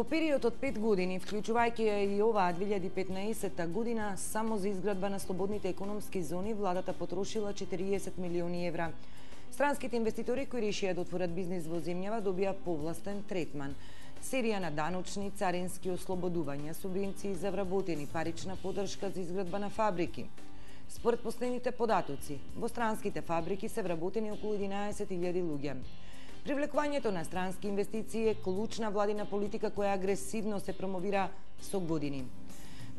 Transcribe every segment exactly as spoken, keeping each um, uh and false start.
Во период од пет години, вклучувајќи и оваа две илјади и петнаесетта година, само за изградба на слободните економски зони, владата потрошила четириесет милиони евра. Странските инвеститори кои решија да отворат бизнис во земјава добија повластен третман. Серија на даночни, царински ослободувања, субвенции за вработени, парична поддршка за изградба на фабрики. Според последните податоци, во странските фабрики се вработени околу единаесет илјади луѓе. Привлекувањето на странски инвестиции е клучна владина политика која агресивно се промовира со години.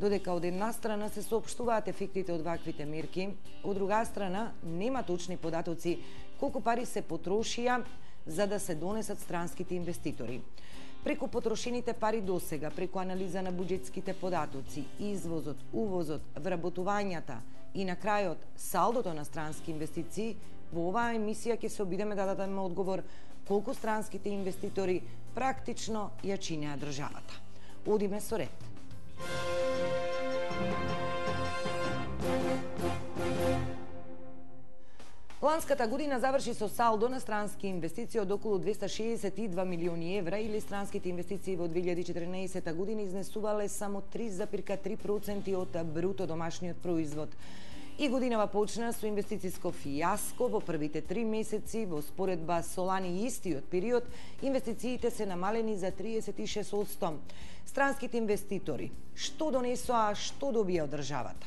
Додека од една страна се соопштуваат ефектите од ваквите мерки, од друга страна нема точни податоци колку пари се потрошија за да се донесат странските инвеститори. Преку потрошените пари досега, преку анализа на буџетските податоци, извозот, увозот, вработувањата и на крајот салдото на странски инвестиции, во оваа емисија ќе се обидеме да дадеме одговор колку странските инвеститори практично ја чинеа државата. Одиме со ред. Ланската година заврши со салдо на странски инвестиции од околу двеста шеесет и два милиони евра, или странските инвестиции во две илјади и четрнаесетта година изнесувале само три зарез три проценти од бруто домашниот производ. И годинава почна со инвестициско фијаско. Во првите три месеци, во споредба со лани истиот период, инвестициите се намалени за триесет и шест одсто. Странските инвеститори што донесоа, а што добија од државата?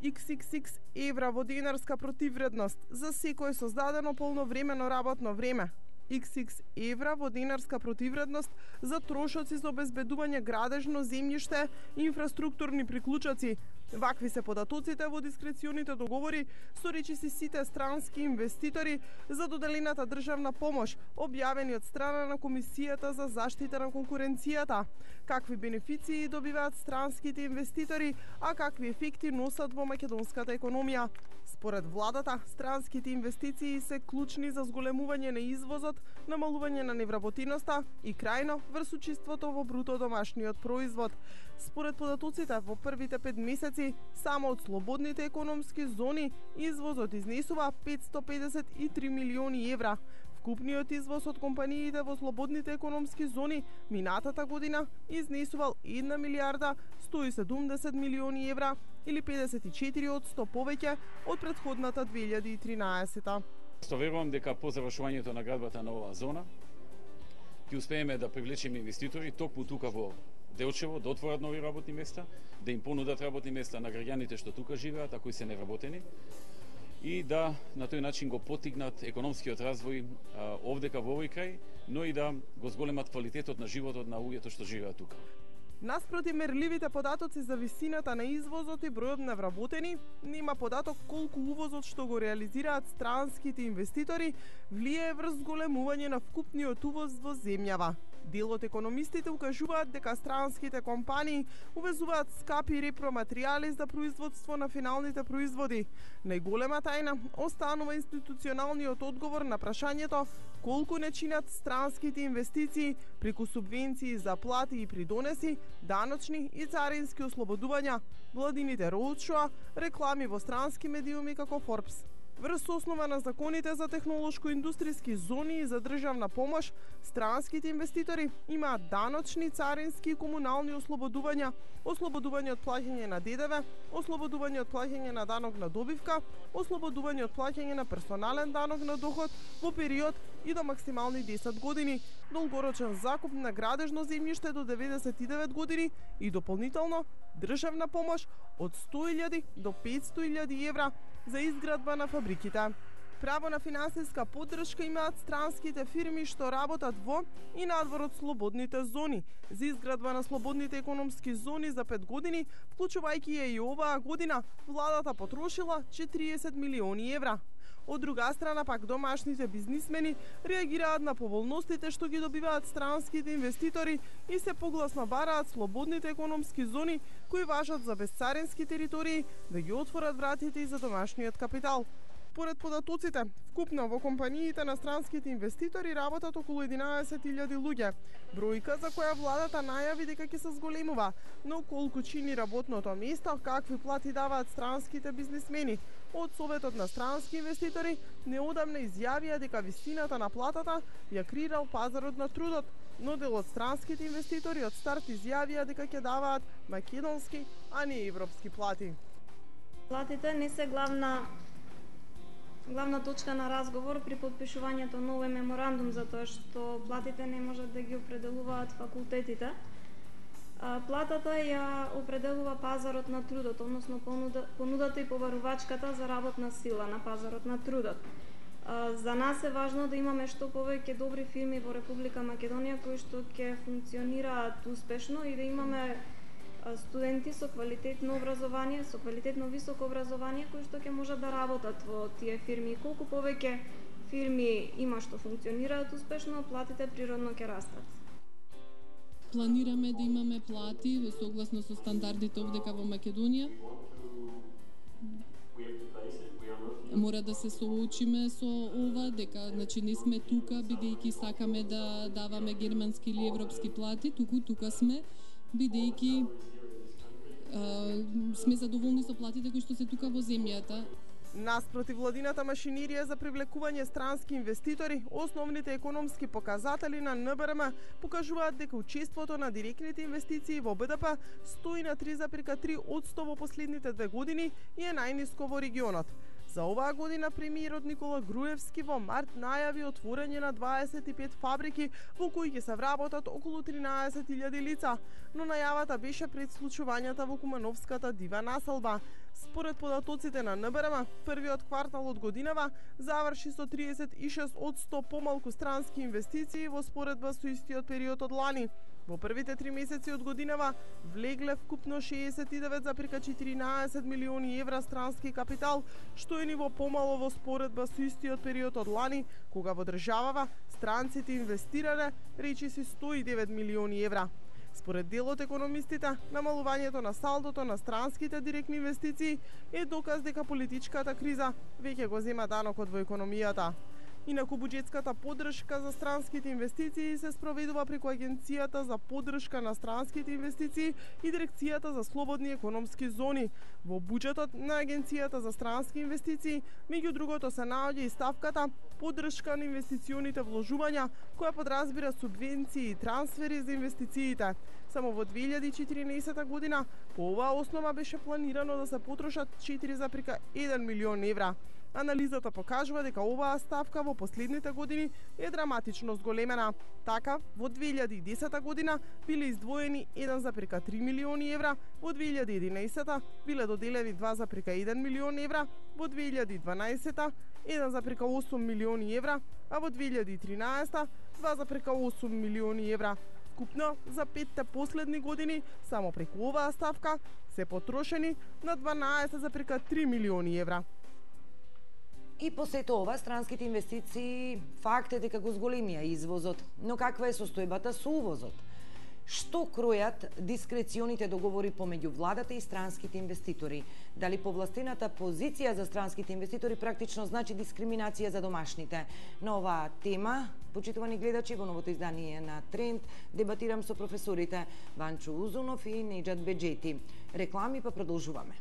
икс икс икс евра во денарска противвредност за секој создадено полновремено работно време. икс икс евра во денарска противвредност за трошоци за обезбедување градежно земјиште и инфраструктурни приклучоци. Вакви се податоците во дискреционите договори со речиси сите странски инвеститори за доделената државна помош, објавени од страна на Комисијата за заштита на конкуренцијата. Какви бенефиции добиваат странските инвеститори, а какви ефекти носат во македонската економија? Според владата, странските инвестиции се клучни за зголемување на извозот, намалување на невработеноста и крајно врз учеството во бруто домашниот производ. Според податоците во првите пет месеци само од слободните економски зони извозот изнесува петсто педесет и три милиони евра. Вкупниот извоз од компаниите во слободните економски зони минатата година изнесувал една милијарда сто и седумдесет милиони евра, или педесет и четири одсто повеќе од претходната две илјади и тринаесетта. Што верувам дека по завршувањето на градбата на оваа зона ќе успееме да привлечеме инвеститори токму тука во Делчево, да отворат нови работни места, да им понудат работни места на граѓаните што тука живеат, а кои се невработени, и да на тој начин го потигнат економскиот развој а, овдека во овој крај, но и да го зголемат квалитетот на животот на луѓето што живеат тука. Наспроти мерливите податоци за висината на извозот и бројот на вработени, нема податок колку увозот што го реализираат странските инвеститори влијае врз зголемување на вкупниот увоз во земјава. Дел од економистите укажуваат дека странските компании увезуваат скапи репроматеријали за производство на финалните производи. Најголема тајна останува институционалниот одговор на прашањето колку не чинат странските инвестиции преку субвенции за плати и придонеси, даночни и царински ослободувања, владините роудшоа, реклами во странски медиуми како Forbes. Врз основа на законите за технолошко-индустријски зони и за државна помош, странските инвеститори имаат даночни, царински и комунални ослободувања, ослободување од плаќање на ДДВ, ослободување од плаќање на данок на добивка, ослободување од плаќање на персонален данок на доход во период и до максимални десет години, долгорочен закуп на градежно земјиште до деветдесет и девет години и дополнително државна помош од сто илјади до петсто илјади евра за изградба на фабриките. Право на финансиска поддршка имаат странските фирми што работат во и надвор од слободните зони. За изградба на слободните економски зони за пет години, вклучувајќи ја и оваа година, владата потрошила четириесет милиони евра. Од друга страна пак домашните бизнисмени реагираат на поволностите што ги добиваат странските инвеститори и се погласно бараат слободните економски зони кои важат за безцарински територии да ги отворат вратите и за домашниот капитал. Според податоците, вкупно во компаниите на странските инвеститори работат околу единаесет илјади луѓе, бројка за која владата најави дека ќе се зголемува, но колку чини работното место, какви плати даваат странските бизнисмени, од Советот на странски инвеститори неодамна изјавија дека висината на платата ја креирал пазарот на трудот, но дел од странските инвеститори од старт изјавија дека ќе даваат македонски, а не европски плати. Платите не се главна главна точка на разговор при подпишувањето на овој меморандум, затоа што платите не можат да ги определуваат факултетите. Платата ја определува пазарот на трудот, односно понудата и побарувачката за работна сила на пазарот на трудот. За нас е важно да имаме што повеќе добри фирми во Република Македонија кои што ќе функционираат успешно и да имаме студенти со квалитетно образование, со квалитетно високо образование кои што ќе можат да работат во тие фирми. И колку повеќе фирми има што функционираат успешно, платите природно ќе растат. Планираме да имаме плати согласно со стандардите овдека во Македонија. Мора да се соочиме со ова, дека значи не сме тука бидејќи сакаме да даваме германски или европски плати, туку тука сме бидејќи сме задоволни со платите кои што се тука во земјата. Наспроти владината машинерија за привлекување странски инвеститори, основните економски показатели на Н Б Р М покажуваат дека учеството на директните инвестиции во Б Д П стои на три зарез три одсто во последните две години и е најниско во регионот. За оваа година премиерот Никола Груевски во март најави отворање на дваесет и пет фабрики во кои ќе се вработат околу тринаесет илјади лица, но најавата беше пред случувањата во Кумановската дива населба. Според податоците на Н Б Р М, првиот квартал од годинава заврши со тридесет и шест одсто помалку странски инвестиции во споредба со истиот период од лани. Во првите три месеци од годинава влегле вкупно шеесет и девет зарез четиринаесет милиони евра странски капитал, што е ниво помало во споредба со истиот период од лани, кога во државава странците инвестирале речиси сто и девет милиони евра. Според дел од економистите, намалувањето на салдото на странските директни инвестиции е доказ дека политичката криза веќе го зема данокот во економијата. Инаку буџетската поддршка за странските инвестиции се спроведува преку Агенцијата за поддршка на странските инвестиции и Дирекцијата за слободни економски зони. Во буџетот на Агенцијата за странски инвестиции, меѓу другото се наоѓа и ставката поддршка на инвестиционите вложувања, која подразбира субвенции и трансфери за инвестициите. Само во две илјади и четиринаесета година по оваа основа беше планирано да се потрошат четири зарез еден милион евра. Анализата покажува дека оваа ставка во последните години е драматично зголемена. Така, во две илјади и десета година биле издвоени еден зарез три милиони евра, во две илјади и единаесета биле доделени два зарез еден милион евра, во две илјади и дванаесета еден зарез осум милиони евра, а во две илјади и тринаесета два зарез осум милиони евра. Вкупно за петте последни години само преку оваа ставка се потрошени на дванаесет зарез три милиони евра. И по сето ова, странските инвестиции факт е дека го зголемија извозот, но каква е состојбата со увозот? Што кројат дискреционите договори помеѓу владата и странските инвеститори? Дали повластената позиција за странските инвеститори практично значи дискриминација за домашните? На оваа тема, почитувани гледачи, во новото издание на Тренд дебатирам со професорите Ванчо Узунов и Неџат Беџети. Реклами па продолжуваме.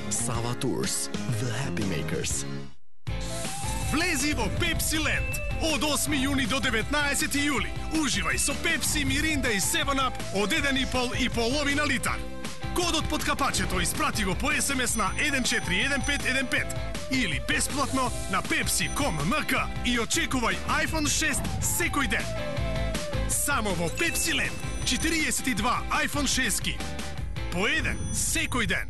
Sava Tours, The Happy Makers. Влези во Pepsi Land. Од осми јуни до деветнаесети јули. Уживај со Pepsi, Миринда и севен ап од еден и пол и половина литар. Кодот под капачето испрати го по ес ем ес на еден четири еден пет еден пет или бесплатно на pepsi точка com точка ем ка и очекувај iPhone шест секој ден. Само во Pepsi Land. четириесет и два iPhone шест по еден секој ден.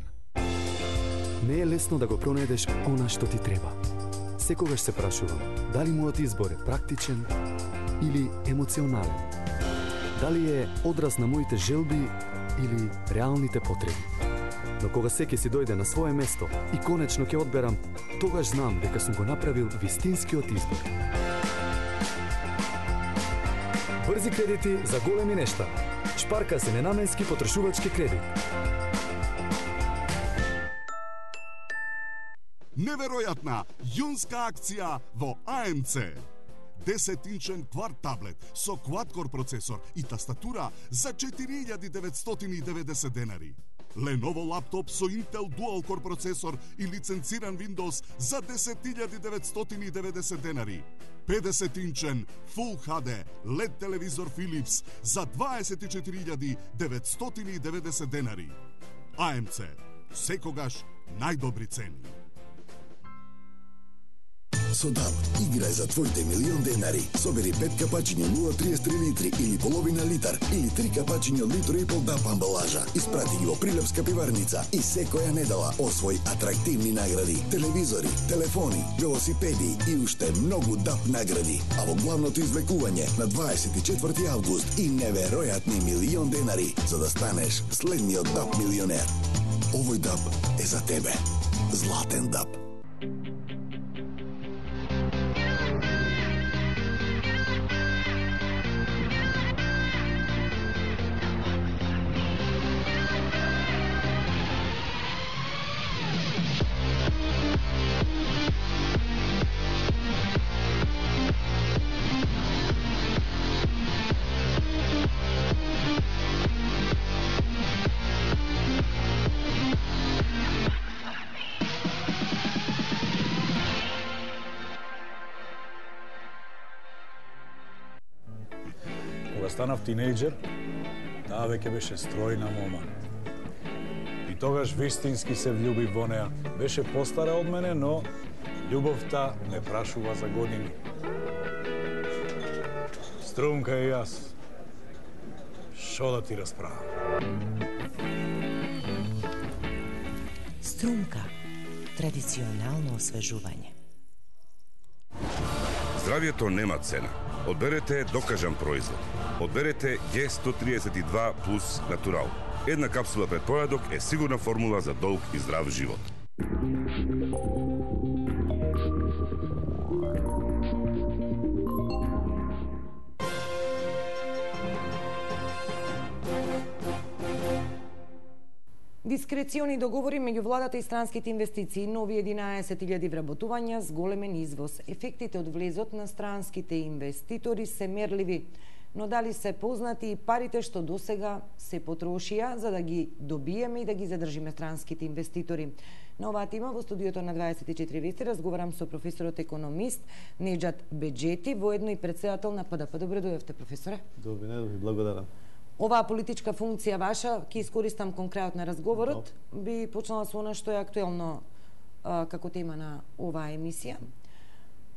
Не е лесно да го пронајдеш она што ти треба. Секогаш се прашувам, дали мојот избор е практичен или емоционален? Дали е одраз на моите желби или реалните потреби? Но кога секи си дојде на свое место и конечно ќе одберам, тогаш знам дека сум го направил вистинскиот избор. Брзи кредити за големи нешта. Шпарка се ненаменски потрошувачки кредит. неверојатна јунска акција во А М Це. десет инчен кварт таблет со quad-core процесор и тастатура за четири илјади деветстотини и деветдесет денари. Lenovo лаптоп со Intel Dual-core процесор и лиценциран Windows за десет илјади деветстотини и деветдесет денари. педесет инчен Full Х Д Л И Д телевизор Philips за дваесет и четири илјади деветстотини и деветдесет денари. А М Це. Секогаш најдобри цени. Со ДАБ играј за твоите милион денари. Собери пет капачиња нула цели триесет три литри или половина литар или три капачиња литро и пол ДАБ амбалажа. Испрати ги во Прилепска пиварница и секоја недела освој атрактивни награди, телевизори, телефони, велосипеди и уште многу ДАБ награди. А во главното извлекување на дваесет и четврти август и неверојатни милион денари за да станеш следниот ДАБ милионер. Овој ДАБ е за тебе. Златен ДАБ. Станав тинејџер, таа веќе беше стројна мома. И тогаш вистински се влюбив во неа. Беше постара од мене, но љубовта не прашува за години. Струмка и јас. Шо да ти расправам? Струмка. Традиционално освежување. Здравието нема цена. Одберете докажан производ. Одберете Г сто триесет и два плюс Натурал. Една капсула пред појадок е сигурна формула за долг и здрав живот. Дискрециони договори меѓу владата и странските инвестиции, нови единаесет илјади вработувања с големен извоз. Ефектите од влезот на странските инвеститори се мерливи, но дали се познати и парите што досега се потрошија за да ги добиеме и да ги задржиме странските инвеститори. На оваа тема во студиото на дваесет и четири вести разговарам со професорот економист Неџат Беџети, воедно и претседател на П Д П. Добре дојдовте, професоре. Добре, ви благодарам. Оваа политичка функција ваша, ќе искористам кон крајот на разговорот, би почнала со она што е актуелно а, како тема на оваа емисија.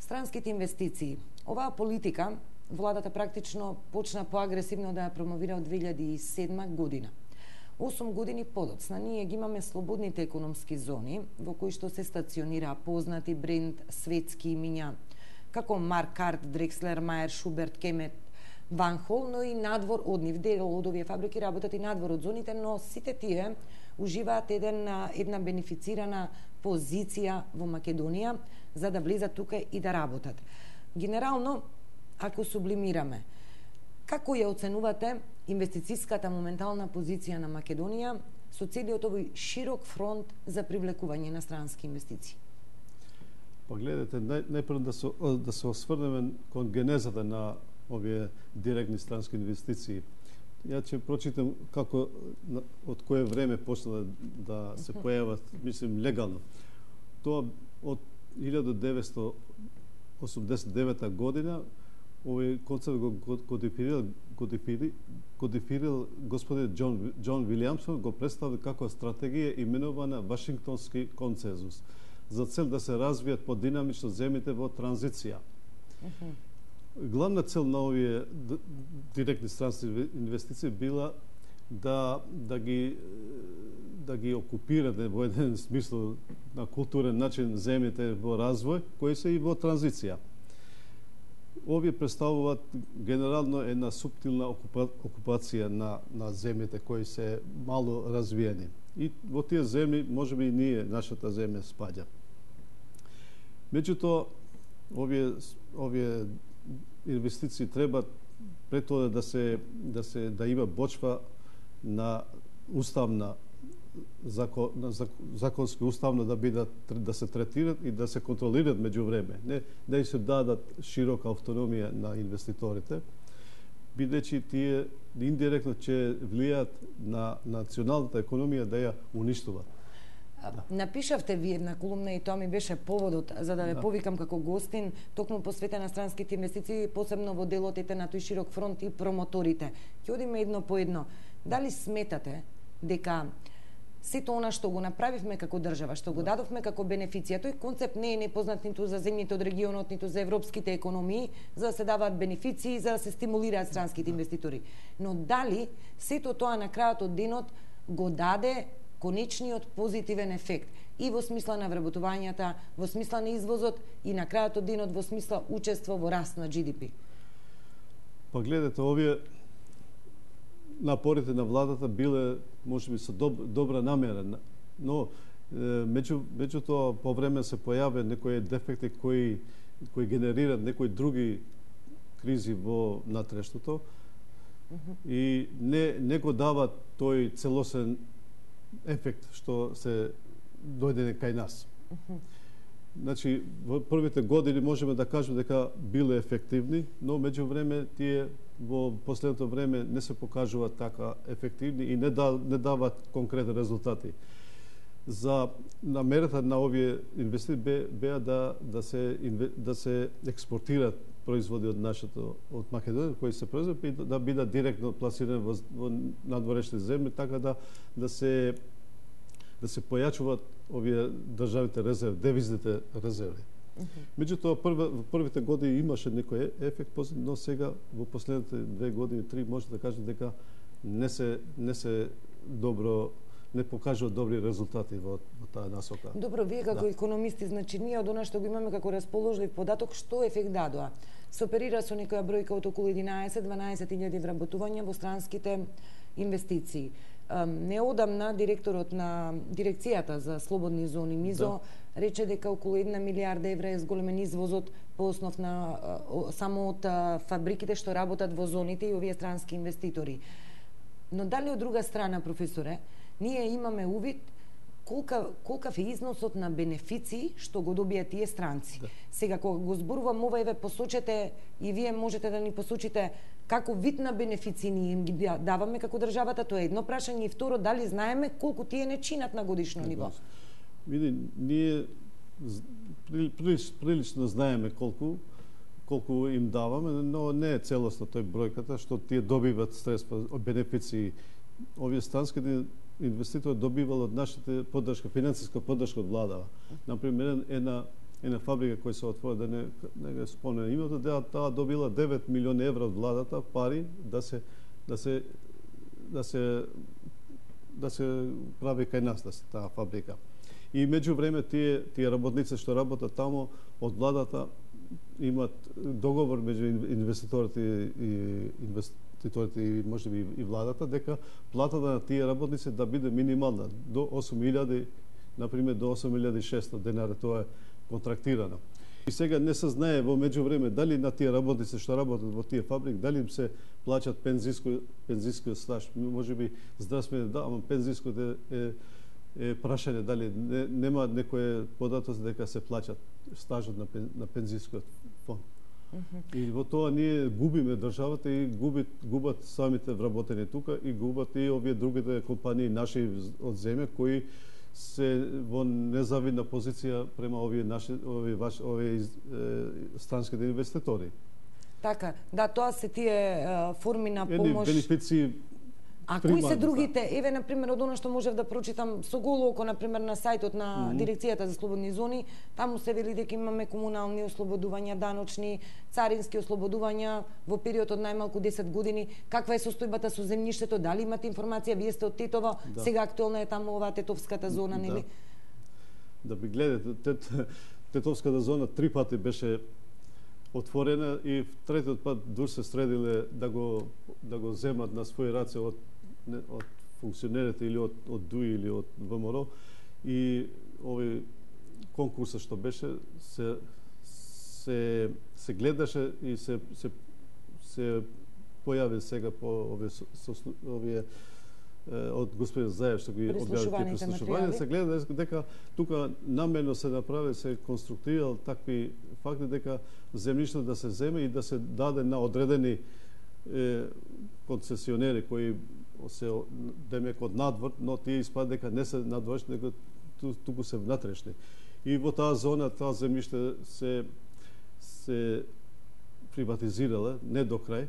Странските инвестиции. Оваа политика владата практично почна поагресивно да ја промовира од две илјади и седма година. осум години подоцна ние ги имаме слободните економски зони во кои што се стационира познати бренд светски имиња како Маркарт, Дрекслер, Мајер, Шуберт, Кемет, Ван Хол, но и надвор од нив. Дел од овие фабрики работат и надвор од зоните, но сите тие уживаат еден, една бенефицирана позиција во Македонија за да влезат тука и да работат. Генерално, ако сублимираме, како ја оценувате инвестицијската моментална позиција на Македонија со целиот овој широк фронт за привлекување на странски инвестиции? Па гледате, нај, најпрво да се, да се осврнеме кон генезата на овие директни странски инвестиции. Ја ќе прочитам како од кое време почна да се појават, мислим, легално. Тоа од илјада деветстотини осумдесет и девета година овој концепт го кодифирал, кодифирал, кодифирал господин Џон, Џон Вилијамсон, го представи како стратегија именувана Вашингтонски консензус, за цел да се развијат подинамично земјите во транзиција. Главна цел на овие директни странски инвестиции била да да ги да ги окупираат во еден смисол на културен начин земјите во развој, кои се и во транзиција. Овие представуваат генерално една суптилна окупа, окупација на на земјите кои се мало развиени. И во тие земји можеби и ние, нашата земја, спаѓа. Меѓутоа, овие овие инвестиции треба пред тоа да се да се да има почва на уставна закон, законски уставно да бидат да се третираат и да се контролираат меѓу време. Не да им се дадат широка автономија на инвеститорите, бидејќи тие индиректно ќе влијаат на националната економија да ја уништуваат. Да. Напишавте ви една колумна и тоа ми беше поводот за да ве да. повикам како гостин, токму посветена на странските инвестиции, посебно во делотите на тој широк фронт и промоторите. Ќе одиме едно по едно. Дали сметате дека сето она што го направивме како држава, што го дадовме како бенефиција, тој концепт не е непознат ниту за земјите од регионот, ниту за европските економии, за да се даваат бенефиции, за да се стимулираат странските инвеститори. Но дали сето тоа на крајот од денот го даде конечниот позитивен ефект и во смисла на вработувањата, во смисла на извозот и на крајот од денот во смисла учество во раст на Джи Ди Пи? Па гледате, овие напорите на владата биле можеби со доб, добра намера, но меѓу меѓу тоа по време се појаве некои дефекти кои кои генерираат некои други кризи во натрештото mm -hmm. и не не го дават тој целосен ефект што се дојде кај нас. Mm -hmm. Значи, во првите години можеме да кажеме дека биле ефективни, но меѓу време тие во последното време не се покажуваат така ефективни и не, да, не дават конкретни резултати. За намерата на овие инвестиции беа да да се да се експортираат производи од нашето од Македонија кои се произведат и да бидат директно пласирани во, во надворешни земји, така да да се да се појачуваат овие државните резерви, девизните резерви. Mm -hmm. Меѓутоа, прва, во првите години имаше некој ефект, но сега во последните две години, три, може да кажем дека не се не се добро не покажуваат добри резултати во, во таа насока. Добро, вие како да. економисти, значи ние од она што го имаме како расположлив податок, што ефект дадоа? Се оперира со некоја бројка од околу единаесет-дванаесет илјади вработувања во странските инвестиции. Неодамна директорот на дирекцијата за слободни зони МИЗО да. рече дека околу една милиарда евра е зголемен извозот по основ на само од фабриките што работат во зоните и овие странски инвеститори. Но дали од друга страна, професоре, ние имаме увид колка колкав е износот на бенефиции што го добијат тие странци. Да. Сега кога го зборувам ова, еве посочете и вие можете да ни посочите како вид на бенефиции ние им ги даваме како државата, тоа е едно прашање, и второ, дали знаеме колку тие не чинат на годишно ниво? Види, ние прилич, прилично знаеме колку колку им даваме, но не е целосно тој бројката што тие добиваат средства од бенефиции. Овие странските инвеститори добивал од нашите поддршка, финансиска поддршка од владава. Например, една една фабрика која се отвори, да не не го спомнам името, да таа добила девет милиони евра од владата пари да се да се да се да се прави кај нас да се таа фабрика. И меѓу време тие тие работници што работат таму од владата имаат договор меѓу инвеститорите и инвеститорите и можеби и владата дека платата на тие работници да биде минимална до осум илјади, на пример до осум илјади и шеста денари, тоа е контрактирано. И сега не се знае во меѓувреме дали на тие работници што работат во тие фабрики, дали им се плаќат пензиско пензиско стаж, можеби здравствено да, ама пензиското е, е е прашање дали не, нема некој податоци дека се плаќат стажот на, пен, на пензискиот фонд. Mm -hmm. И во тоа ние губиме државата и губит, губат самите вработени тука и губат и овие другите компании наши од земја кои се во незавидна позиција према овие наши овие ваш овие е, странските инвеститори. Така, да, тоа се тие е, форми на помош. Едни бенефиции. А кои се другите? Еве, на пример, од она што можев да прочитам со голо око, на пример, на сајтот на mm -hmm. Дирекцијата за слободни зони, таму се вели дека имаме комунални ослободувања, даночни, царински ослободувања во период од најмалку десет години. Каква е состојбата со земјиштето? Дали имате информација? Вие сте од Тетово, да. Сега актуелна е таму оваа Тетовската зона, да. нели? Да би гледате, тет, Тетовската зона три пати беше отворена и третиот пат дур се средиле да го да го земат на своји раце од од функционерите или од од ДУИ или од ВМРО, и овој конкурсот што беше се се се гледаше и се се се појави сега по овие со, овие од господин Заев што ги објавите прислушувања, се гледа дека тука намерно се направи, се конструктирал такви факти дека земјиште да се земе и да се даде на одредени е, концесионери кои се демек од надвор, но тие испад дека не се надворешни, дека туку се внатрешни. И во таа зона, таа земјиште се се приватизирала не до крај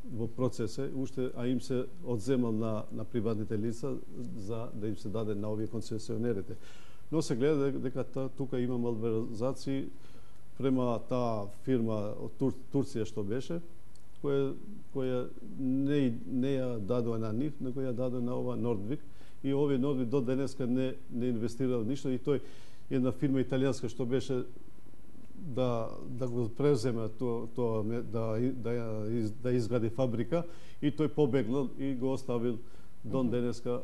во процесе, уште, а им се одземал на, на приватните лица за да им се даде на овие концесионерите. Но се гледа дека та, тука има малверзации према таа фирма од Тур, Турција што беше, која, која не, не ја дадоа на нив, него ја дадоа на ова Нордвик. И овие Нордвик до денеска не, не инвестирал ништо и тој една фирма италијанска што беше да да го преземе тоа то, да да да изгради фабрика и тој побегнал и го оставил до денеска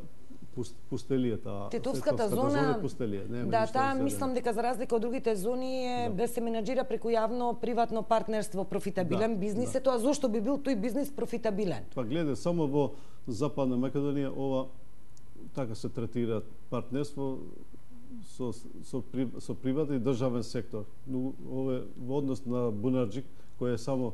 пустелијата. Тетовската зона, пустелија. Да, таа мислам дека за разлика од другите зони е да се менаџира преку јавно приватно партнерство, профитабилен да, бизнис, да. Е тоа зошто би бил тој бизнис профитабилен? Па гледа, само во Западна Македонија ова така се третира партнерство со со со приватен и државен сектор. Но ове во однос на Бунарџик кој е само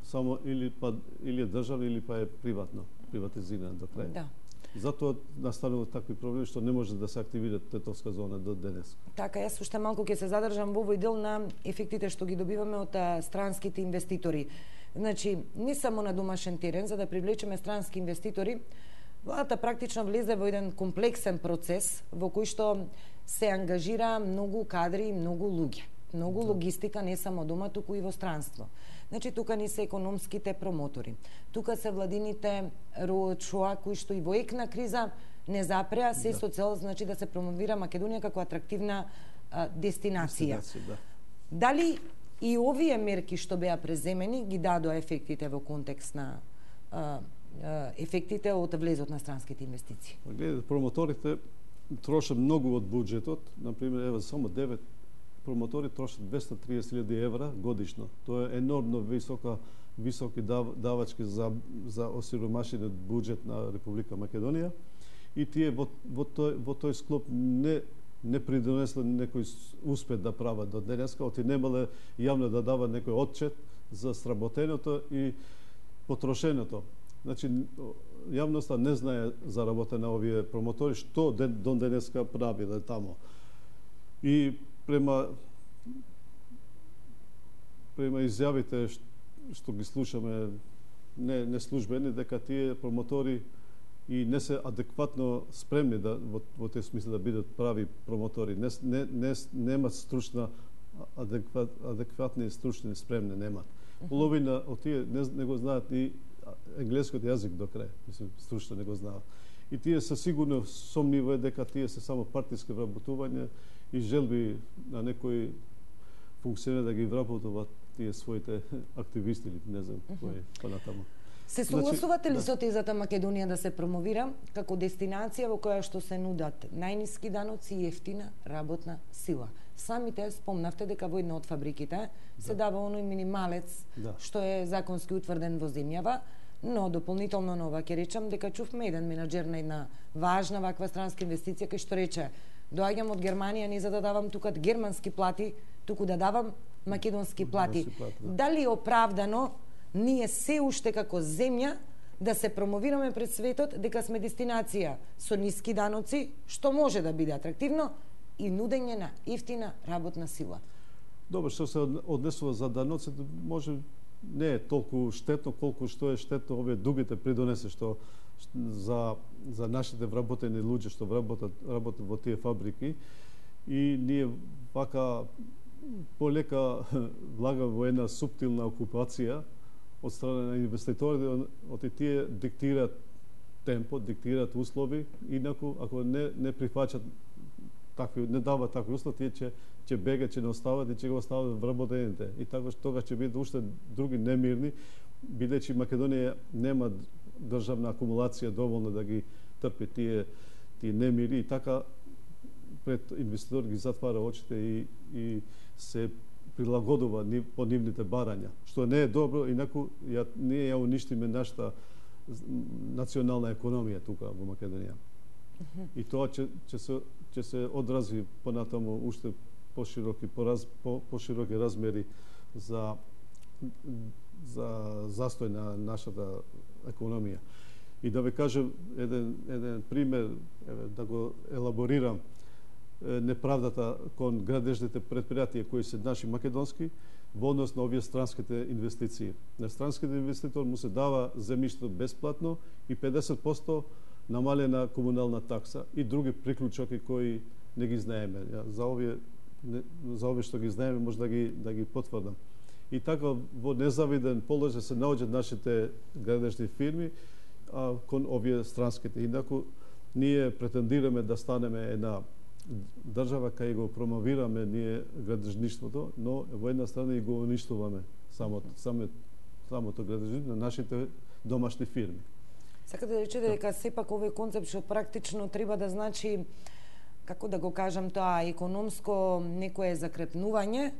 само или па или е државно или па е приватно, приватизирано до крај. Да. Затоа настанува такви проблеми што не може да се активира тетовска зона до денес. Така, јас уште малку ќе се задржам во овој дел на ефектите што ги добиваме од странските инвеститори. Значи, не само на домашен терен, за да привлечеме странски инвеститори, владата практично влезе во еден комплексен процес во кој што се ангажира многу кадри и многу луѓе. Многу да. Логистика не само дома, туку и во странство. Значи, тука ни се економските промотори. Тука се владините роочоа кои што и во ек на криза не запреа, се да. Со цел значи да се промовира Македонија како атрактивна а, дестинација. Дестинација да. Дали и овие мерки што беа преземени ги дадоа ефектите во контекст на а, а, ефектите од влезот на странските инвестиции? Гледате, промоторите трошат многу од буџетот, например, ева само девет промотори трошат двесте и триесет илјади евра годишно. Тоа е енормно висока високи дав, давачки за за осиромашениот буџет на Република Македонија и тие во во тој во тој склоп не не придонесле некој успех да прават до денеска, оти немале јавно да дава некој отчет за сработеното и потрошеното. Значи, јавноста не знае за работа на овие промотори, што ден, до денеска правиле тамо. И према према изјавите што, што ги слушаме не, не службени, дека тие промотори и не се адекватно спремни да во, во тој смисла да бидат прави промотори. Не, не, не, немат стручна адекват, адекватни стручни спремни немат. Половина од тие не, не го знаат и енглескиот јазик до крај, мислам, стручно не го знаат. И тие се сигурно сомнива дека тие се само партиски вработувања и желби на некои функционери да ги вработуваат тие своите активисти или не знам кои понатаму. Се согласувате ли со тезата Македонија да се промовира како дестинација во која што се нудат најниски даноци и ефтина работна сила? Самите спомнавте дека во една од фабриките да. Се дава оној минималец да. Што е законски утврден во земјава, но дополнително на ова ќе речам дека чувме еден менаџер на една важна ваква странска инвестиција кој што рече: доаѓам од Германија не за да давам тука германски плати, туку да давам македонски плати. плати да. Дали е оправдано ние се уште како земја да се промовираме пред светот дека сме дестинација со ниски даноци, што може да биде атрактивно, и нудење на ефтина работна сила? Добро, што се однесува за даноците, може не е толку штетно колку што е штетно овие дугите придонесе што за за нашите вработени луѓе што вработат работат во тие фабрики и ние вака полека влагаме во една суптилна окупација од страна на инвеститорите, оти тие диктираат темпо, диктираат услови, инаку ако не не прифаќат такви, не дават такви услови, тие ќе ќе бегаат, ќе не остават и ќе го остават вработените. И така тогаш ќе бидат уште други немирни, бидејќи Македонија нема државна акумулација доволно да ги трпи тие тие немири и така пред инвеститор ги затвара очите и и се прилагодува по нивните барања, што не е добро, инаку ја, ние ја уништиме нашата национална економија тука во Македонија. И тоа ќе ќе се ќе се одрази понатаму уште пошироки пораз, по, пошироки размери за за застој на нашата економија. И да ве кажем еден еден пример, еве да го елаборирам, неправдата кон градежните предпријатија кои се наши македонски во однос на овие странските инвестиции. На странските инвеститор му се дава земјиште бесплатно и педесет проценти намалена комунална такса и други приклучоки кои не ги знаеме. За овие за овие што ги знаеме може да ги да ги потврдам. И така во незавиден положај се наоѓаат нашите градежни фирми а, кон овие странските. Инаку ние претендираме да станеме една држава кај го промовираме ние градежништвото, но во една страна и го уништуваме самото самото самото градежништво на нашите домашни фирми. Сакате да речете дека сепак овој концепт што практично треба да значи, како да го кажам тоа, економско некое закрепнување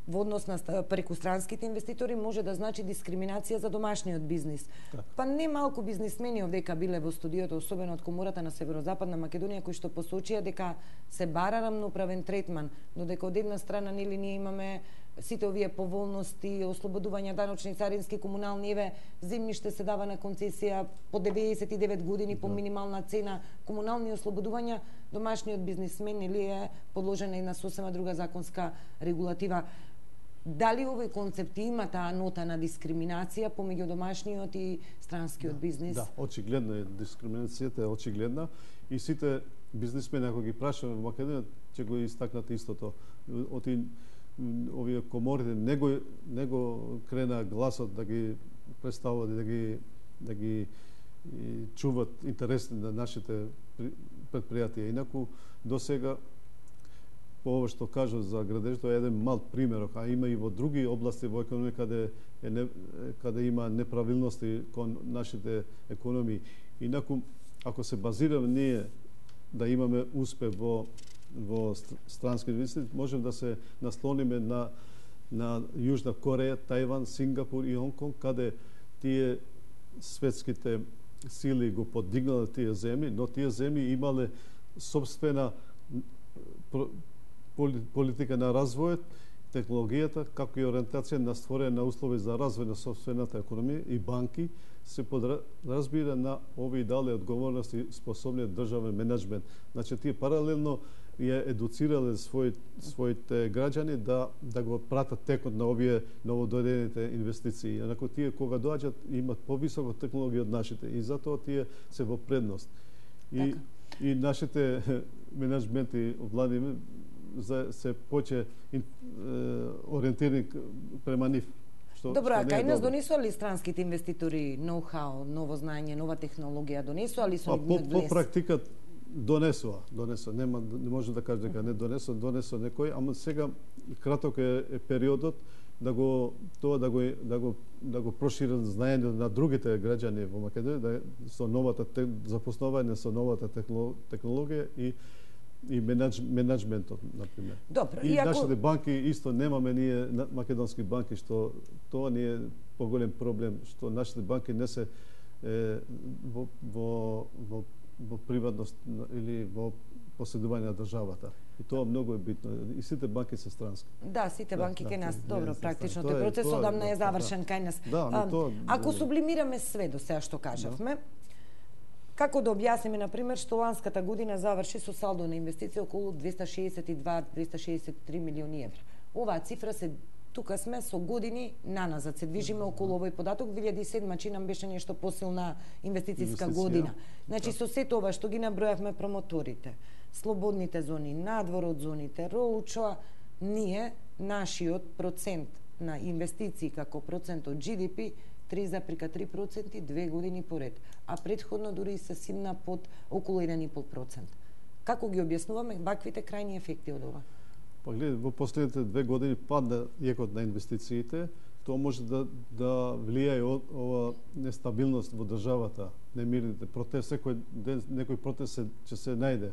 во однос на преку странските инвеститори може да значи дискриминација за домашниот бизнис. Так. Па не малку бизнисмени овдека биле во студиото, особено од Комората на Северозападна Македонија, кои што посочија дека се бара рамноправен третман, но дека од една страна нели ние имаме сите овие поволности, ослободување даночни, царински, комунални, еве земјиште се дава на концесија по деветдесет и девет години по минимална цена, комунални ослободувања, домашниот бизнисмен или е подложен на една сосема друга законска регулатива. Дали овој концепт има таа нота на дискриминација помеѓу домашниот и странскиот да, бизнис? Да, очигледно е, дискриминацијата е очигледна и сите бизнисмени ако ги прашаме во Македонија ќе го истакнат истото. Оти овие коморите не го не го крена гласот да ги представуваат и да ги да ги и чуват интересите на нашите предпријатија. Инаку досега по ова што кажа за градежето е еден мал пример, а има и во други области во економија каде е не, каде има неправилности кон нашите економии. Инаку ако се базираме ние да имаме успех во во странски инвестиции, можем да се наслониме на на Јужна Кореја, Тајван, Сингапур и Хонконг, каде тие светските сили го подигнале тие земји, но тие земји имале собствена политика на развојот, технологијата, како и ориентација на створење на услови за развој на собствената економија и банки се подразбира на овие дали одговорности и способниот државен менеджмент. Значи тие паралелно ја едуцирале свој, своите граѓани да да го пратат текот на овие новодојдените инвестиции. Инаку тие кога доаѓаат имаат повисока технологија од нашите и затоа тие се во предност. И така. И нашите менеджменти влади за се поче ориентирани према нив. Што, Добро, а кај нас добро. донесува ли странските инвеститори ноу-хау, ново знаење, нова технологија, донесува ли со по, нивниот по влез? практика донесува, донесува, нема не може да каже дека не донесува, донесува некој, ама сега краток е, е периодот да го тоа да го да го да го прошират знаење на другите граѓани во Македонија да со новата те, запознавање со новата технологија и и менедж, менеджментот на пример. Добро, и ако... нашите банки исто немаме ние македонски банки што тоа ни е поголем проблем што нашите банки не се е, во во во во приватност или во поседување на државата. И тоа многу е битно. И сите банки се странски. Да, сите банки да, кај да, нас, не, добро, не, практично тоа тој е- процес тоа е, одамна да, е завршен да. кај нас. Да, но А, тоа- Ако да. сублимираме све до сега што кажавме, како да објасниме, на пример, што ланската година заврши со салдо на инвестиција околу двеста шеесет и два до двеста шеесет и три милиони евра. Оваа цифра се тука сме со години наназад, се движиме околу овој податок. две илјади и седма чи нам беше нешто посилна инвестициска Инвестиција. година. Значи со сето ова што ги набројавме, промоторите, слободните зони, надвор од зоните, роучо, ние нашиот процент на инвестиции како процент од Джи Ди Пи три запирка три проценти две години поред, а предходно дури и се симна под околу еден и пол процент. Како ги објаснуваме ваквите крајни ефекти од ова? Па гледај, во последните две години падна јекот на инвестициите, тоа може да да влијае од ова нестабилност во државата, немирните протест, секој ден некој протест се, ќе се најде.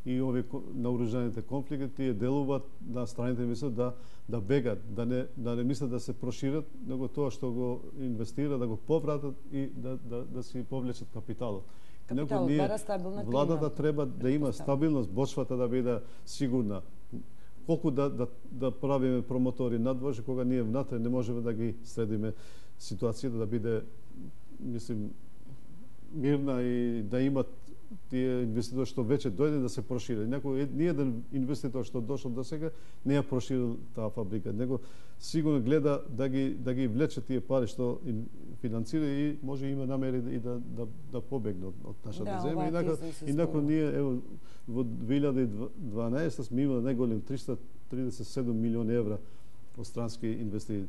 и овие наоружаните конфликти, тие делуваат на страните инвеститори да да бегат, да не да не мислат да се прошират, него тоа што го инвестира да го повратат и да да да си повлечат капиталот. Капиталот бара стабилна клима. Владата треба да има стабилност, почвата да биде сигурна. Колку да да да правиме промотори надвор, кога ние внатре не можеме да ги средиме ситуацијата да биде, мислим, мирна и да имат тие инвеститори што веќе дојде да се прошири. Некој ни еден инвеститор што дошол до сега не ја проширил таа фабрика, него сигурно гледа да ги да ги влече тие пари што финансира и може има намери и да да да побегне од, од нашата да, земја. Инако инако ние ево во две илјади и дванаесетта сме имали најголем триста тридесет и седум милиони евра од странски инвестиции.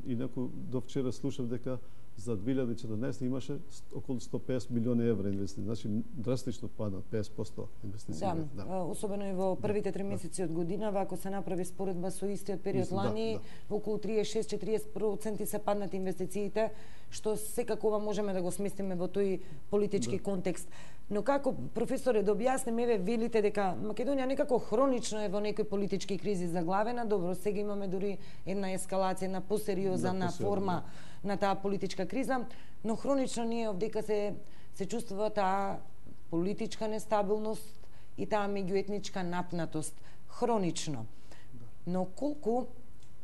Инаку до вчера слушав дека за две илјади и четрнаесетта имаше околу сто песет милиони евра инвестиции. Значи драстично пада песет проценти инвестиции. Да, да, особено и во првите три месеци од годинава, ако се направи споредба со истиот период Исто, лани, да, да. околу триесет и шест до четириесет проценти се паднат инвестициите, што секако ова можеме да го сместиме во тој политички да. контекст. Но како, професоре, да објаснеме, еве велите дека Македонија некако хронично е во некои политички кризи заглавена. Добро, сега имаме дури една ескалација, една посериозна да, форма да. на таа политичка криза, но хронично ние овдека се се чувствува таа политичка нестабилност и таа меѓуетничка напнатост хронично. Но колку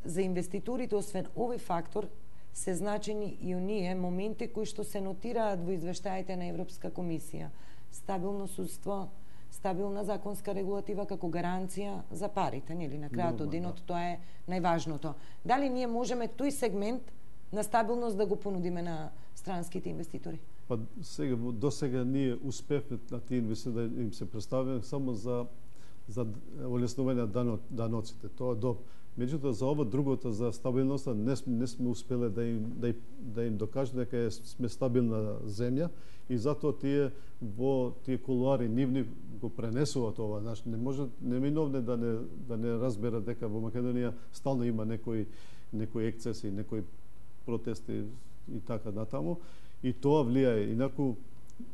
за инвеститорите освен овој фактор се значени и оние моменти кои што се нотираат во извештаите на Европска комисија. Стабилно судство, стабилна законска регулатива како гаранција за парите, нели на крајот од денот, да. Тоа е најважното. Дали ние можеме тој сегмент на стабилност да го понудиме на странските инвеститори? Па сега до сега ние успевме на тие инвеститори да им се представиме само за за олеснување на даноците. Тоа е добро. Меѓутоа за ова другото, за стабилноста, не, не сме успеле да им да, да им докажеме дека сме стабилна земја и затоа тие во тие кулуари нивни го пренесуваат ова. Знаеш, не може неминовно да не да не разберат дека во Македонија стално има некои некои ексцеси, некои протести и така натаму, и тоа влијае. Инаку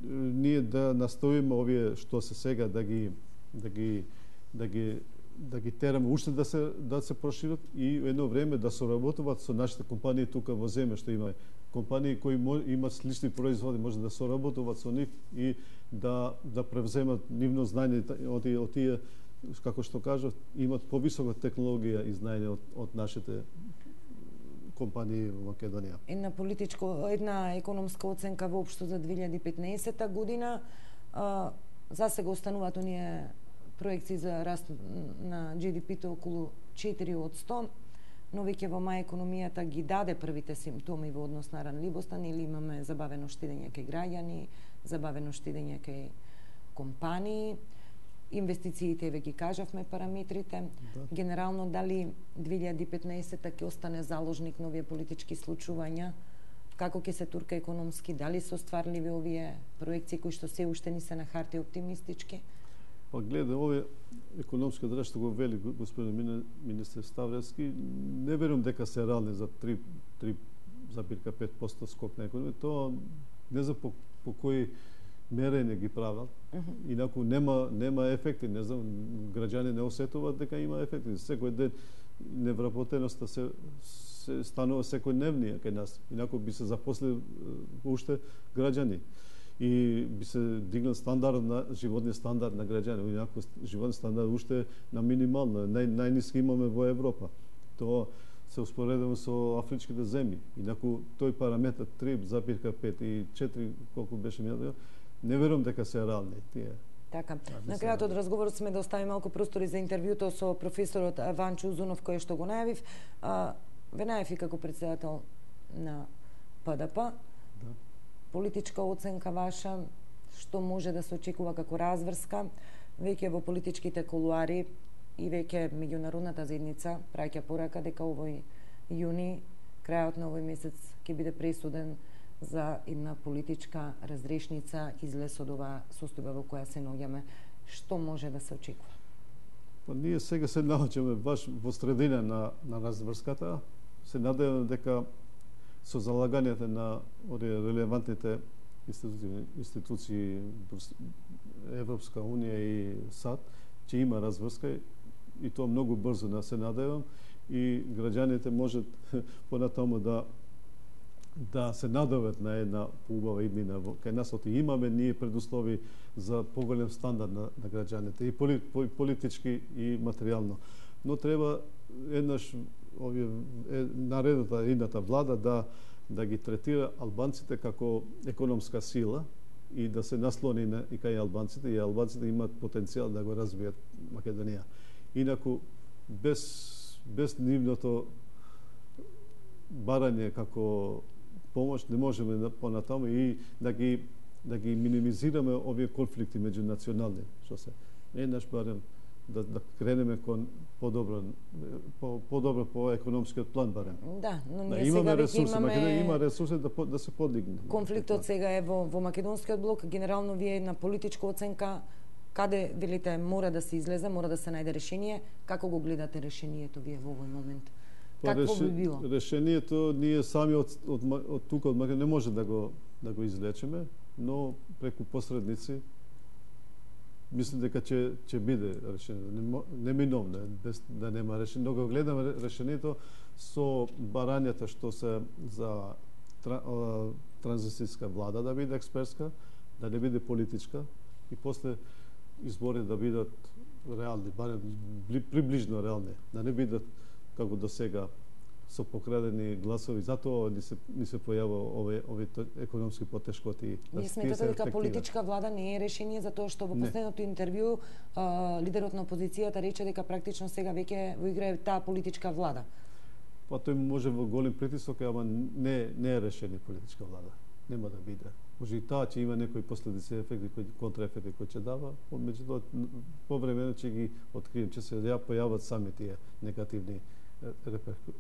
ние да настоиме овие што се сега да ги да ги да ги да ги тераме уште да се да се прошират и едно време да соработуваат со нашите компании тука во земја, што има компании кои имаат слични производи, може да соработуваат со нив и да да превземат нивно знаење од од тие, како што кажав, имаат повисока технологија и знаење од од нашите компании во Македонија. Една политичко, една економска оценка воопшто за две илјади и петнаесетта година, а, за сега остануваат оние проекции за раст на Джи Ди Пи-то околу четири од сто, но веќе во мај економијата ги даде првите симптоми во однос на ранливоста, или имаме забавено штедење кај граѓани, забавено штедење кај компании, инвестициите веќе ги кажавме параметрите. Да. Генерално дали две илјади и петнаесетта ќе остане заложник на овие политички случувања, како ќе се турка економски, дали се остварливи овие проекции кои што се уште ни се на хартија оптимистички? Па гледа, овие економски драж што го вели господин министер Ставревски, не верувам дека се реални за три зарез пет проценти скок на економија. Тоа не знам по, по кои мерење ги прават. Uh -huh. Инаку нема нема ефекти, не знам, граѓани не осетуваат дека има ефекти. Секој ден невработеноста се се станува секојдневнија кај нас. Инаку би се запослил уште граѓани и би се дигнал стандард на животниот стандард на граѓани. Инаку животниот стандард уште на минимално, нај, најниски имаме во Европа. Тоа се успоредува со афричките земји. Инаку тој параметар три зарез пет и четири колку беше минато, не верувам дека се реални тие. Така. На крајот од разговорот сме да оставиме малку простори за интервјуто со професорот Ванчо Узунов, кој што го најавив. Ве најави како председател на П Д П. Да. Политичка оценка ваша, што може да се очекува како разврска, веќе во политичките кулуари и веќе меѓународната заедница праќа порака дека овој јуни, крајот на овој месец, ќе биде пресуден за една политичка разрешница излез од оваа состојба во која се наоѓаме. Што може да се очекува? Па ние сега се наоѓаме баш во средина на на разврската. Се надевам дека со залагањето на овие релевантните институции, институции Европска унија и САД, че има разврска и тоа многу брзо, да се надевам, и граѓаните можат понатаму да да се надеват на една поубава иднина кај нас, оти имаме ние предуслови за поголем стандард на, на граѓаните, и поли, политички и материјално. Но треба еднаш овие наредната идната влада да да ги третира албанците како економска сила и да се наслони на и кај албанците, и албанците имаат потенцијал да го развијат Македонија. Инаку без без нивното барање како помош не можеме понатаму и да ги да ги минимизираме овие конфликти меѓунационални, што се еднаш барем да да кренеме кон подобро по подобро по економскиот план барем. Да, но ние да, имаме сега ресурси, имаме Македонија има ресурси да да се подигне. Конфликтот сега е во во македонскиот блок, генерално вие една политичка оценка каде велите мора да се излезе, мора да се најде решение, како го гледате решението вие во овој момент? Какво би било? Решението ние сами од од, од тука од Македонија не може да го да го излечеме, но преку посредници мислам дека ќе ќе биде решение. Неминовно е без да нема решение. Но го гледаме решението со барањата што се за транзицијска влада да биде експертска, да не биде политичка и после избори да бидат реални, барем приближно реални, да не бидат како до сега со покрадени гласови. Затоа ни се ни се појава овие овие економски потешкоти. Ние сметате дека политичка влада не е решение, затоа што во последното интервју а, лидерот на опозицијата рече дека практично сега веќе во игра е таа политичка влада. Па тој може во голем притисок, ама не не е решение политичка влада. Нема да биде. Може и таа ќе има некои последици, ефекти, кои контраефекти кои ќе дава, меѓутоа повремено ќе ги открием, ќе се ја појават сами тие негативни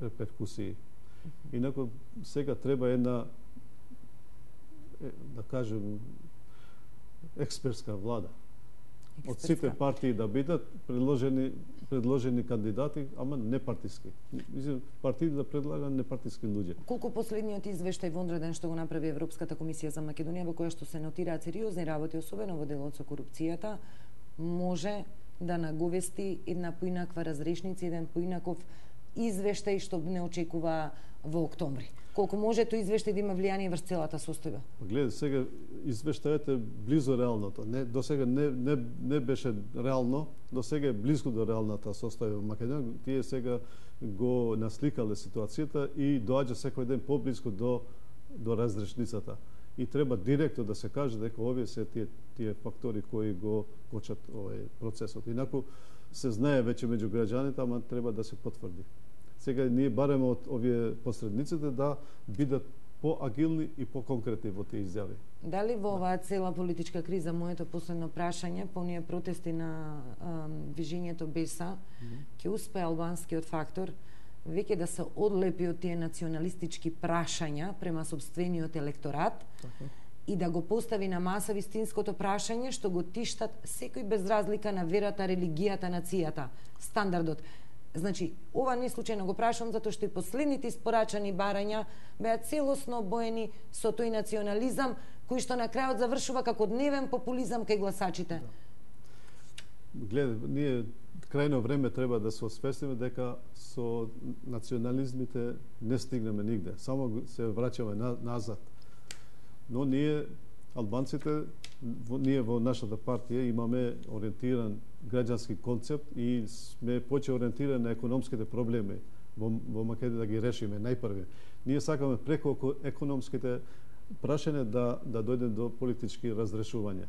реперкусии. Инаку сега треба една, да кажем, експертска влада. Експертска. Од сите партии да бидат предложени предложени кандидати, ама не партиски. Партии да предлагат непартиски луѓе. Колку последниот извештај во одреден што го направи Европската комисија за Македонија, во која што се нотираат сериозни работи, особено во делот со корупцијата, може да наговести една поинаква разрешница, еден поинаков извештај што не очекува во октомври. Колку може тој извештај да има влијание врз целата состојба? Гледа, сега извештајот е близо реалното. Не, до сега не, не, не беше реално, до сега е близко до реалната состојба во Македонија. Тие сега го насликале ситуацијата и доаѓа секој ден поблиску до до разрешницата. И треба директно да се каже дека овие се тие тие фактори кои го кочат овој процесот. Инаку се знае веќе меѓу граѓаните, ама треба да се потврди. Сега ние бареме од овие посредниците да бидат поагилни и поконкретни во тие изјави. Дали во оваа цела политичка криза, моето последно прашање, по оние протести на а, движењето Беса, ќе успее албанскиот фактор веќе да се одлепи од тие националистички прашања према сопствениот електорат, така, и да го постави на маса вистинското прашање што го тиштат секој без разлика на верата, религијата, нацијата, стандардот. Значи, ова не случајно го прашам затоа што и последните испорачани барања беа целосно обоени со тој национализам кој што на крајот завршува како дневен популизам кај гласачите. Да. Гледа, ние крајно време треба да се освестиме дека со национализмите не стигнеме нигде, само се враќаме на, назад. Но ние, албанците, ние во нашата партија имаме ориентиран граѓански концепт и сме поче ориентирани на економските проблеми во, во Македонија да ги решиме најпрви. Ние сакаме преку економските прашања да да дојдем до политички разрешувања.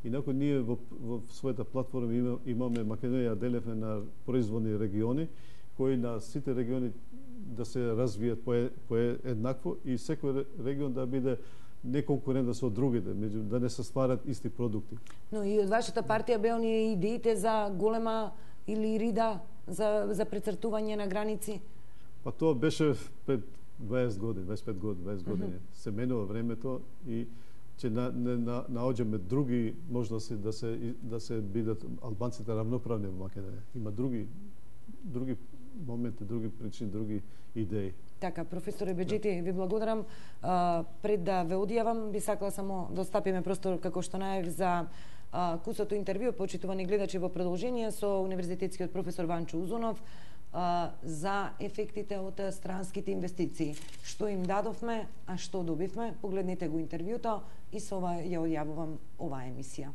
Инаку ние во, во својата платформа имаме Македонија делевме на производни региони кои на сите региони да се развијат по, по еднакво и секој регион да биде не конкурентен со другите, меѓу да не се стварат исти продукти. Но и од вашата партија беа оние идеите за голема или рида за за прецртување на граници? Па тоа беше пред дваесет години, дваесет и пет години, дваесет години. Uh-huh. Се менува времето и че на, не на, наоѓаме други можности да се да се бидат албанците равноправни во Македонија. Има други други моменти, други причини, други идеи. Така, професоре Беџети, ви благодарам. А, пред да ве одјавам, би сакала само да остапиме простор, како што најав, за Кусото интервју, почитувани гледачи, во продолжение со универзитетскиот професор Ванчо Узунов за ефектите од странските инвестиции. Што им дадовме, а што добивме? Погледнете го интервјуто и со ова ја одјавувам оваа емисија.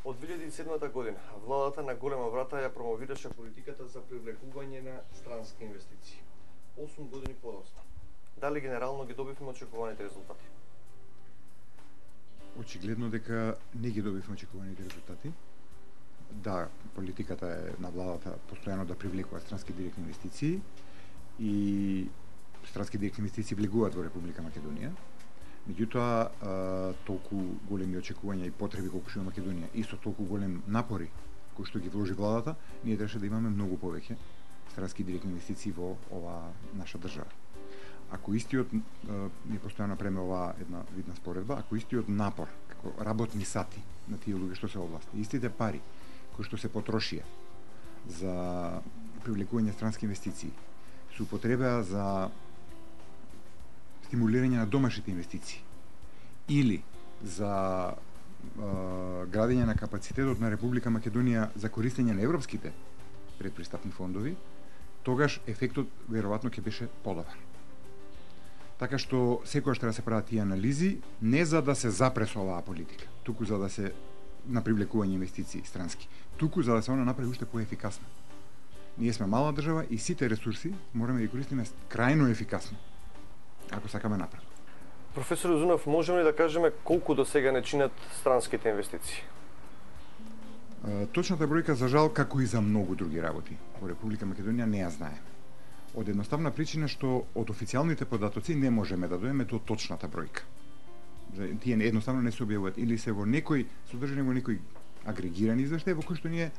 Од две илјади и седма година владата на голема врата ја промовираше политиката за привлекување на странски инвестиции. осум години подоцна. Дали генерално ги добивме очекуваните резултати? Очигледно дека не ги добивме очекуваните резултати. Да, политиката е на владата постојано да привлекува странски директни инвестиции и странски директни инвестиции влегуваат во Република Македонија. Меѓутоа, толку големи очекувања и потреби колку што има Македонија и со толку голем напори кои што ги вложи владата, ние требаше да имаме многу повеќе странски директни инвестиции во оваа наша држава. Ако истиот, ние постојано направиме оваа една видна споредба, ако истиот напор, како работни сати на тие луѓе што се области, истите пари кои што се потрошија за привлекување странски инвестиции, се употребеа за стимулирање на домашните инвестиции или за е, градење на капацитетот на Република Македонија за користење на европските предпристапни фондови, тогаш ефектот веројатно ќе беше подобар. Така што секогаш треба да се прават тие анализи не за да се запре со оваа политика, туку за да се на привлекување инвестиции странски, туку за да се она направи уште поефикасно. Ние сме мала држава и сите ресурси мораме да ги користиме крајно ефикасно, ако сакаме напред. Професор Узунов, можеме ли да кажеме колку до сега не чинат странските инвестиции? Точната бројка, за жал, како и за многу други работи во Република Македонија, не ја знаеме. Од едноставна причина што од официјалните податоци не можеме да дојдеме до точната бројка. Тие едноставно не се објавуваат или се во некој содржани во некој агрегирани извештај во кој што ние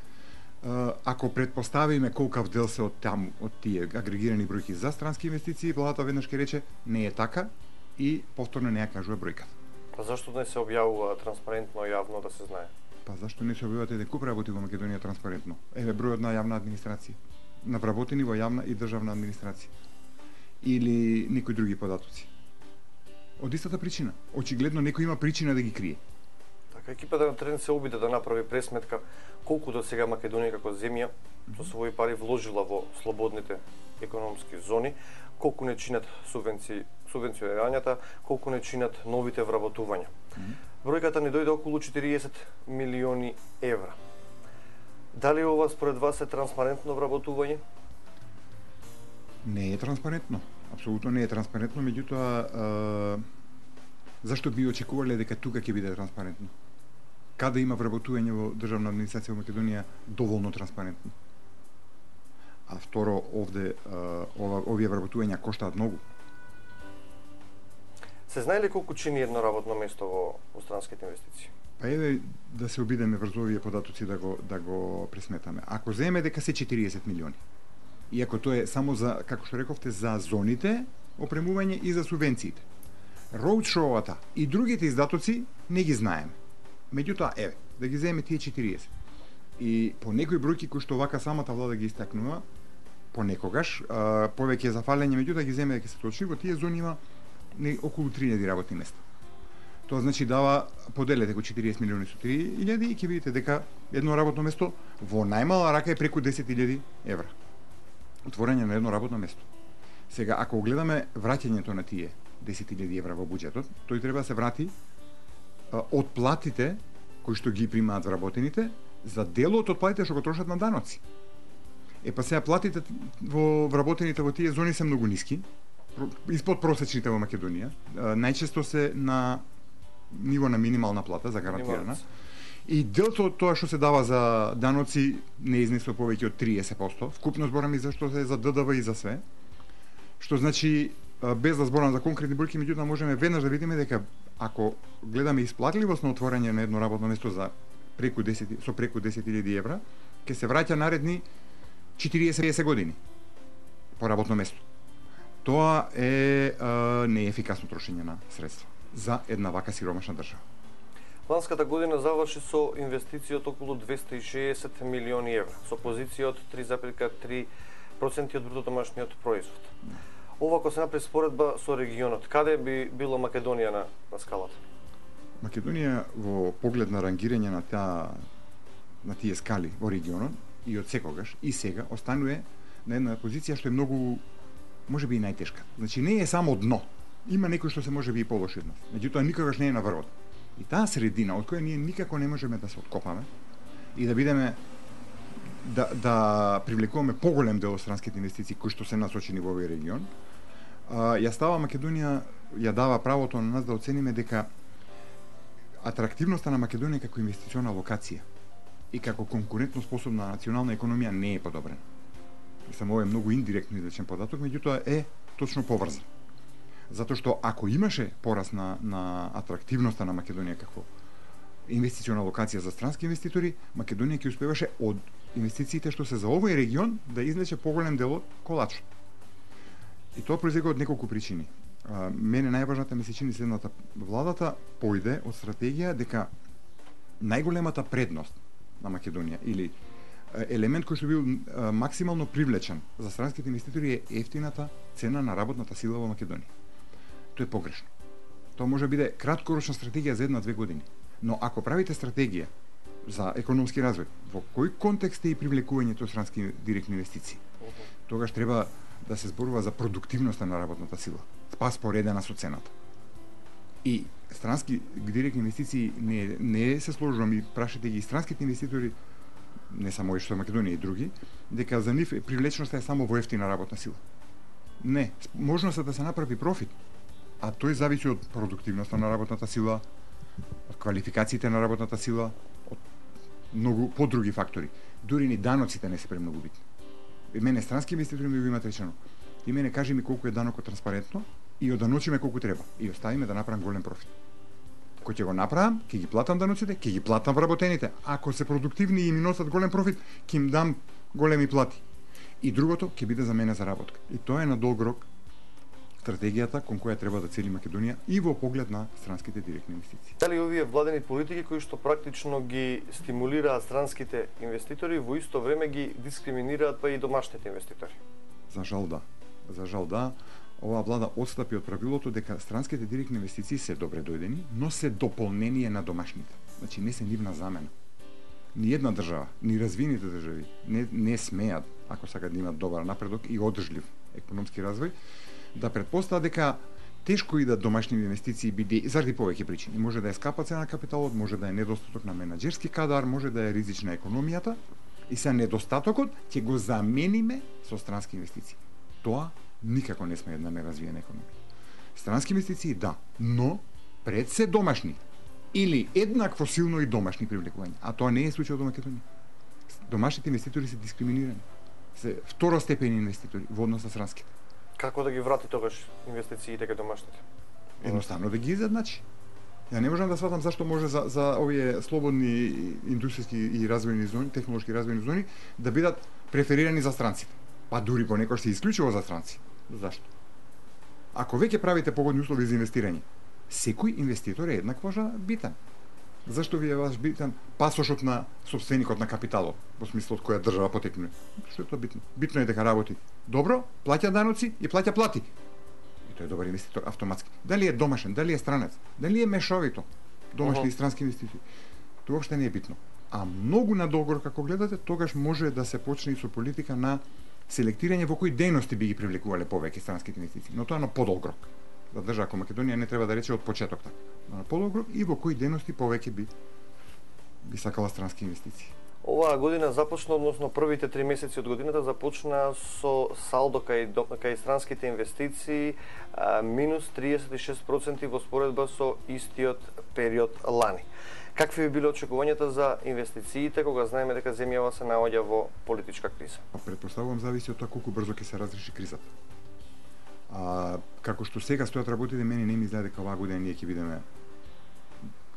ако предпоставиме колкав дел се од таму од тие агрегирани бројки за странски инвестиции, владата веднаш ќе рече не е така и повторно не ја кажува бројката. Па зашто не се објавува транспарентно јавно да се знае? Па зашто не се објавуваат еден куп работи во Македонија транспарентно? Еве бројот на јавна администрација, на вработени во јавна и државна администрација или некои други податоци. Од истата причина. Очигледно некој има причина да ги крие. Така, екипата на терен се обиде да направи пресметка колку до сега Македонија како земја со своји пари вложила во слободните економски зони, колку не чинат субвенции, субвенционирањата, колку не чинат новите вработувања. Mm -hmm. Бројката ни дојде околу четириесет милиони евра. Дали ова според вас е транспарентно вработување? Не е транспарентно. Апсолутно не е транспарентно, меѓутоа зашто би очекувале дека тука ќе биде транспарентно? Каде има вработување во државна администрација во Македонија доволно транспарентно? А второ, овде ова, овие вработувања коштаат многу. Се знае ли колку чини едно работно место во, во странските инвестиции? Па еве да се обидеме врз овие податоци да го да го пресметаме. Ако земеме дека се четириесет милиони, иако тоа е само за, како што рековте, за зоните, опремување и за субвенциите. Роудшоуата и другите издатоци не ги знаеме. Меѓутоа, еве, да ги земеме тие четириесет. И по некои бројки кои што вака самата влада ги истакнува, понекогаш, а, повеќе за фалење, меѓутоа ги земеме дека се точни, во тие зони има не, околу три илјади работни места. Тоа значи дава, поделете го четириесет милиони со три илјади и ќе видите дека едно работно место во најмала рака е преку десет илјади евра. Отворање на едно работно место. Сега, ако гледаме враќањето на тие десет илјади евра во буџетот, тој треба да се врати а, од платите кои што ги примаат вработените за делот од платите што го трошат на даноци. Е па сега платите во вработените во тие зони се многу ниски, испод просечните во Македонија, а, најчесто се на ниво на минимална плата за гарантирана. И делото од тоа што се дава за даноци не изнесува повеќе од триесет проценти. Вкупно збораме за што се за Д Д В и за све. Што значи, без да зборам за конкретни бројки, меѓутоа можеме веднаш да видиме дека ако гледаме исплатливост на отворање на едно работно место за преку десет со преку десет илјади евра, ќе се враќа наредни четириесет до песет години по работно место. Тоа е а, неефикасно трошење на средства за една вака сиромашна држава. Ланската година заврши со инвестиции од околу двесте и шеесет милиони евра, со позиција од три зарез и три проценти од брутодомашниот производ. Ова ако се направи споредба со регионот, каде би било Македонија на, на скалата? Македонија во поглед на рангирање на таа на тие скали во регионот и од секогаш и сега останува на една позиција што е многу можеби и најтешка. Значи не е само дно. Има некој што се можеби и полоши од нас. Меѓутоа никогаш не е на врвот. И таа средина од која ние никако не можеме да се откопаме и да бидеме да да привлекуваме поголем дел од странските инвестиции кои што се насочени во овој регион, а, ја става Македонија, ја дава правото на нас да оцениме дека атрактивноста на Македонија како инвестициона локација и како конкурентно способна национална економија не е подобрена. Само ова е многу индиректно изречен податок, меѓутоа е точно поврзан. Затоа што ако имаше порас на, на атрактивноста на Македонија како инвестициона локација за странски инвеститори, Македонија ќе успеваше од инвестициите што се за овој регион да излече поголем дел од колачот. И тоа произлегува од неколку причини. А, мене најважната ми се чини следната: владата појде од стратегија дека најголемата предност на Македонија или елемент кој што бил а, максимално привлечен за странските инвеститори е ефтината цена на работната сила во Македонија. Тоа е погрешно. Тоа може да биде краткорочна стратегија за една-две години. Но ако правите стратегија за економски развој, во кој контекст е и привлекувањето странски директни инвестиции? Тогаш треба да се зборува за продуктивноста на работната сила, споредена со цената. И странски директни инвестиции не, не се сложувам и прашате ги странските инвеститори, не само и што Македонија и други, дека за нив привлечноста е само во ефтина работна сила. Не, можноста да се направи профит, а тој зависи од продуктивноста на работната сила, од квалификациите на работната сила, од многу подруги фактори. Дури ни даноците не се премногу битни. И мене странски инвеститори ми го имат речено: ти мене кажи ми колку е данокот транспарентно и оданочиме колку треба и оставиме да направам голем профит. Кој ќе го направам, ќе ги платам даноците, ќе ги платам вработените. Ако се продуктивни и ми носат голем профит, ќе им дам големи плати. И другото ќе биде за мене заработка. И тоа е на долг рок стратегијата кон која треба да цели Македонија и во поглед на странските директни инвестиции. Дали овие владени политики кои што практично ги стимулираат странските инвеститори, во исто време ги дискриминираат па и домашните инвеститори? За жал да. За жал да. Оваа влада отстапи од правилото дека странските директни инвестиции се добре дојдени, но се дополнение на домашните. Значи не се нивна замена. Ни една држава, ни развиените држави не, не смеат, ако сакаат да имат добар напредок и одржлив економски развој, да претпостават дека тешко идат домашни инвестиции биде заради повеќе причини. Може да е скапа цена на капиталот, може да е недостаток на менаџерски кадар, може да е ризична економијата и се недостатокот ќе го замениме со странски инвестиции. Тоа никако не сме една неразвиена економија. Странски инвестиции да, но пред се домашни или еднакво силно и домашни привлекувања, а тоа не е случајот во Македонија. Домашните инвеститори се дискриминирани. Се второстепени инвеститори во однос на странските. Како да ги врати тогаш инвестициите кај домашните? Едноставно да ги изедначи. Ја не можам да сватам зашто може за, за овие слободни индустријски и развојни зони, технолошки развојни зони, да бидат преферирани за странците. Па дури понекогаш се исклучува за странци. Зашто? Ако веќе правите погодни услови за инвестирање, секој инвеститор е еднакво битен. Зашто ви е ваш битен пасошот на собственикот на капиталот, во смислот која држава потекнува? Што е тоа битно? Битно е дека работи добро, плаќа даноци и плаќа плати. И тој е добар инвеститор автоматски. Дали е домашен, дали е странец, дали е мешовито, домашни uh-huh. и странски инвеститори. Тоа воопште не е битно. А многу надолго како гледате, тогаш може да се почне и со политика на селектирање во кои дејности би ги привлекувале повеќе странските инвестиции, но тоа на подолг рок. За држава како Македонија не треба да рече од почеток така. На подолг рок и во кои дејности повеќе би би сакала странски инвестиции. Оваа година започна, односно првите три месеци од годината започна со салдо кај кај странските инвестиции а, минус триесет и шест проценти во споредба со истиот период лани. Какви би биле очекувањата за инвестициите кога знаеме дека земјава се наоѓа во политичка криза? Па претпоставувам зависи од тоа колку брзо ќе се разреши кризата. А како што сега стојат работите, мене не ми изгледа дека оваа година ние ќе бидеме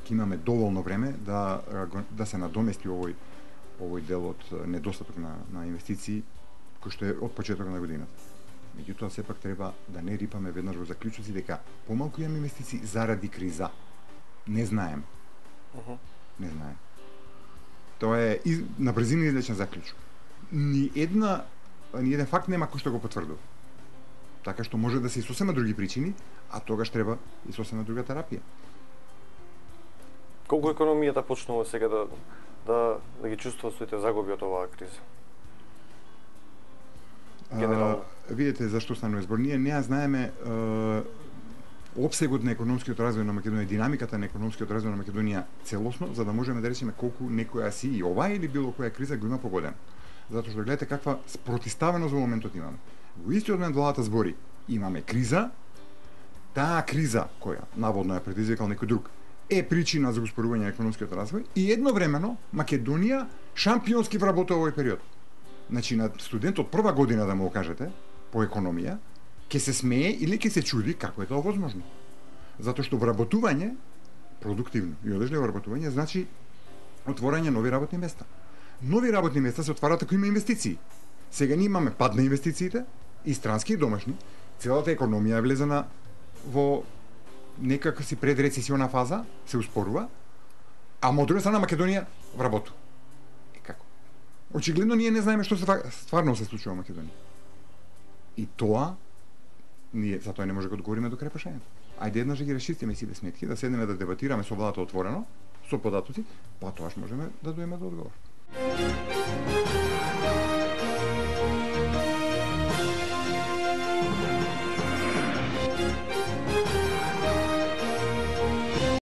ќе имаме доволно време да да се надомести овој овој дел од недостаток на на инвестиции кој што е од почетокот на годината. Меѓутоа сепак треба да не рипаме веднаш во заклучоци дека помалку имаме инвестиции заради криза. Не знаем. Uh-huh. Не знаем. Тоа е из, на брзина излечен заклучок. Ни една ни еден факт нема кој што го потврдува. Така што може да се и сосема други причини, а тогаш треба и сосема друга терапија. Колку економијата почнува сега да да да ги чувствува своите загуби од оваа криза? Генерално. А, видите зашто станува збор. Ние не знаеме а, опсегот на економскиот развој на Македонија, динамиката на економскиот развој на Македонија целосно, за да можеме да речеме колку некоја си и оваа или било која криза го има погодена. Затоа што гледате каква спротиставеност во моментот имаме. Во истиот момент владата збори, имаме криза, таа криза која наводно ја предизвикал некој друг е причина за успорување на економскиот развој и едновремено Македонија шампионски вработува овој период. Значи на студент од прва година да му кажете по економија, ќе се смее или ќе се чуди како е тоа возможно. Затоа што вработување, продуктивно и одлежливо вработување, значи отворање нови работни места. Нови работни места се отварат ако има инвестиции. Сега ние имаме пад на инвестициите, и странски и домашни. Целата економија е влезена во некака си предрецесиона фаза, се успорува, а од друга страна Македонија вработува. И како? Очигледно ние не знаеме што се стварно се случува во Македонија. И тоа ние затоа не може да одговориме до крај прашањето. Ајде еднаш да ги расчистиме сите сметки, да седнеме да дебатираме со владата отворено, со податоци, па тоаш можеме да дојдеме до одговор.